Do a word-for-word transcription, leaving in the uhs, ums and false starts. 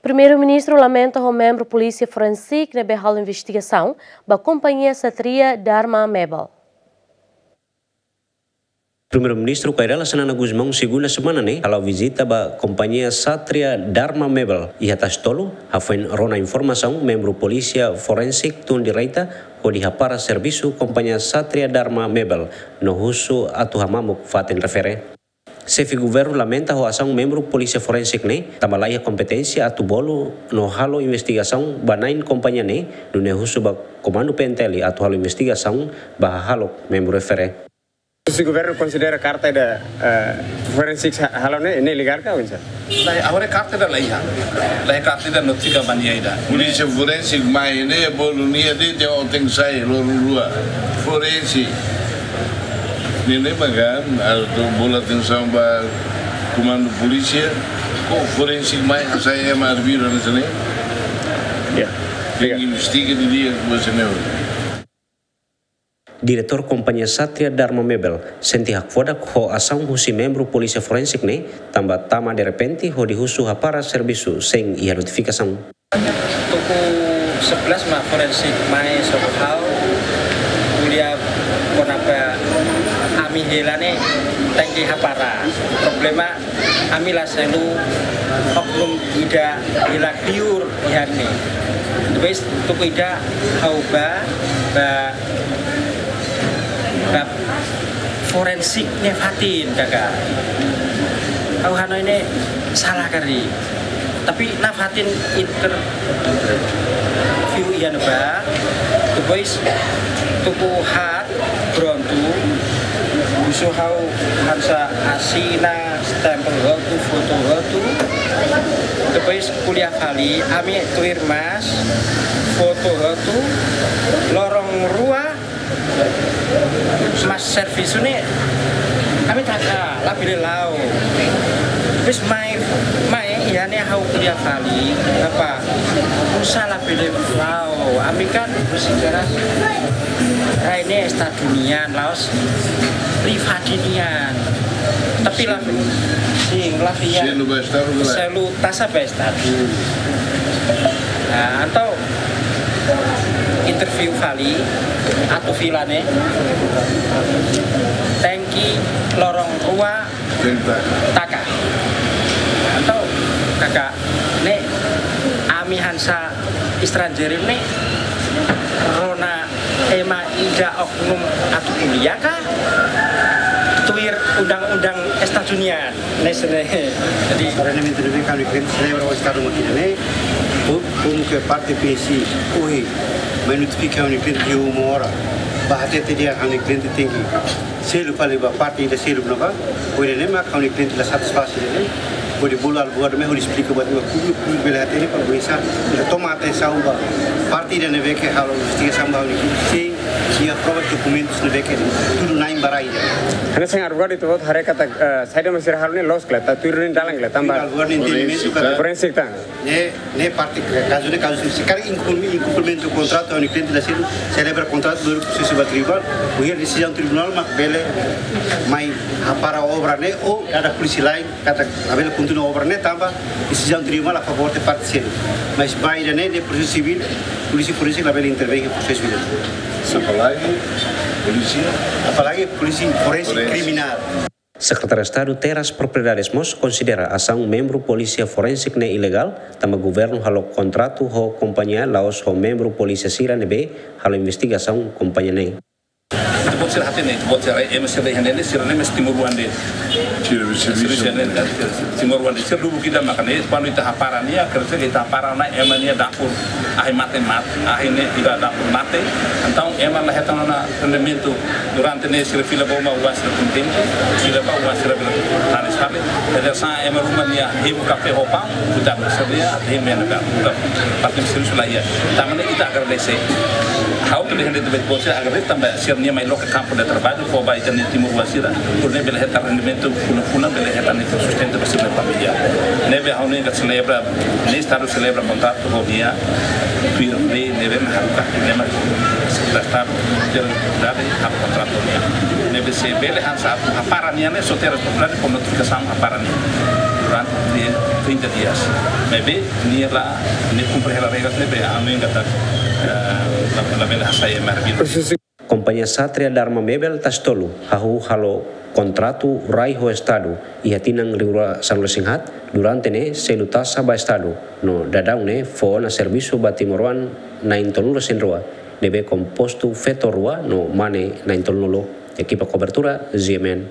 Primeiru-Ministru lamenta ho membru Polísia Forensik ne'ebé halo investigasaun ba kompañia Satria Dharma Mebel. Primeiru-Ministru Kay Rala Xanana Gusmão, segunda semana ne'e, hala'o vizita ba kompañia Satria Dharma Mebel iha Tasitolu, hafoin rona informasaun membru Polísia Forensik tun direta hodi hapara servisu kompañia Satria Dharma Mebel no husu atu hamamuk fatin refere. Xefe Governu lamenta ho asaun membru Polísia Forensik ne'e, tanba laiha kompeténsia atu bolu no halo investigasaun ba na'in kompañia ne'e, nune'e husu ba Komandu P N T L atu halo investigasaun ba hahalok membru refere. Se governu konsidera karta ida, eh, forensik ha-, halo ne'e, ne'e legál ka oinsá? Lae, agora karta ida laiha. Laiha karta ida notifika ba nia ida. Polísia forensik mai ne'e bolu nia de'it, tenke sai loron rua. Forensik. Ne'e ne'e makan, atu bolu atensaun ba komandu polísia, ko forensik mai hasai ema arbiru hanesan ne'e. Ya. Tenke investiga didi'ak buat sira-ne'e. Diretór kompañia Satria Dharma Mebel sente hakfodak ho asaun husi membru Polísia Forensik ne'e, tanba tama derrepente hodi husu hapara servisu sein iha notifikasaun. Tuku sebelas mak forensik mai sobu ha'u, ko'alia kona-ba ami hela ne'e tenke hapara. Problema ami la selu oknum ida hela liur iha ne'e. Depois tuku ida ha'u ba, ba, ba forensik ne'e fatin kaka. Ha'u hanoin ne'e sala karik. Tapi nafatin interview iha ne'ebá. Depois tuku haat prontu. Husu ha'u hanesan asina, stempel hotu, foto hotu. Depois ko'alia fali, ami tuir mas, foto hotu, loron rua, mas servisu ne'e ami taka, labele la'o. Depois mai, mai, iha ne'e ha'u ko'alia fali, apa, oinsá labele la'o, ami kan, rai ne'e Estadu nian, la'ós privadu nian. Tapi la, sin, la fiar. Selu ba Estadu, la. Selu taxa ba Estadu. Nah, entaun interview fali, atu fila ne'e, tenke loron rua taka. Entaun, kaka, ne'e ami hanesan estranjeiru ne'e, rona ema ida oknum atu ko'alia ka, tuir undang-undang Estadu nian. Ne'e sene. Jadi, rendimentu ne'ebé ami klente selebra ho Estadu mak ida-ne'e, ko-, komu ke parte P C, ohin, mai notifika ami klente iha uma oras. Ba hatete dehan ami klente tenke selu fali ba parte ida selu ne'ebá, ohin ne'e mak ami klente la satisfás ne'e. Hodi bolu advogadu mai hodi esplika ba públiku, públiku bele hatene para bisa, bele toma atensaun ba parte ida ne'ebé ke halo investigasaun ba ami klente. Sin, iha prova dokumentus ne'ebé ke tudu na'in ba rai ida. Hanesan advogadu ita-boot haree katak, eh, saida mak sira halo ne'e loos ka lae, tuir dalan ka lae, tanba. Tuir advogadu nia entendimentu katak. Forensik tan. Ne'e, ne'e parte kazu ne'e kazu se karik inkum-, inkumprimentu kontratu, ami klente la selu, selebra kontratu, baru prosesu ba tribunál, ohin desizaun tribunál mak bele mai hapara obra ne'e, ou dada polísia lain, katak labele kontinua obra ne'e tanba desizaun tribunál a favór de parte selu. Mas ba ida-ne'e, ne'e prosesu sivíl, polísia, polísia labele intervein iha prosesu ida. Apalagi polísia. Apalagi polísia forensik. Forensik. Kriminál. Sekretáriu Estadu Terras Propriedades mós konsidera asaun membru Polísia Forensik ne'e ilegál, tanba governu halo kontratu ho kompañia la'ós ho membru polísia sira ne'ebé halo investigasaun kompañia ne'e. Ita-boot sira hatene, ita-boot sira, ema sira iha ne'e, sira ne'e mós timoroan de'it. Sira servisu. Sira ne'e, timoroan de'it. Sira dulu kita makan ne'e, kuandu ita hapara nia, kerja ita hapara ona, ema nia dapur, ahi mate, mate, ahi ne'e ita dapur mate. Entaun ema la hetan ona rendimentu durante ne'e, sira fila ba uma, oan sira kontente, sira ba oan sira bele tanis fali. Jadi sá ema ruma nia hemu kafé ho paun, kuda sira nia, hemu ena ka, kuda patin servisu la iha. Tanba ne'e ita agradese. Ha'u tu de hende tu bet bose agradese tanba sira nia mai loke kampu de traballu, fó ba ita-nia timoroan sira, hodi bele hetan rendimentu, fulan-fulan bele hetan nia sustenta ba sira-nia família. Ne'ebé ha'u-nia selebra, nia Estadu selebra kontratu ho nia, tuir lei ne'ebé mak haruka, ne'e mak Estadu, ter dade halo kontratu ho nia. Ne'ebé se bele hanesan atu hapara nia ne'e, só Terras Propriedades fó notifikasaun hapara nia. durante trinta dias. Maibé nia la, nia kumpre hela regras ne'ebé ami katak, eh, la, labele hasai ema arbiru. Kompañia Satria Dharma Mebel Tasitolu hahú halo kontratu rai ho Estadu iha tinan rihun rua sanulu-resin-haat, durante ne'e selu taxa ba Estadu, no daudaun ne'e fó ona servisu ba timoroan na'in tolunulu-resin-rua, ne'ebé kompostu feto rua no mane na'in tolunulu. Ekipa kobertura, G M N.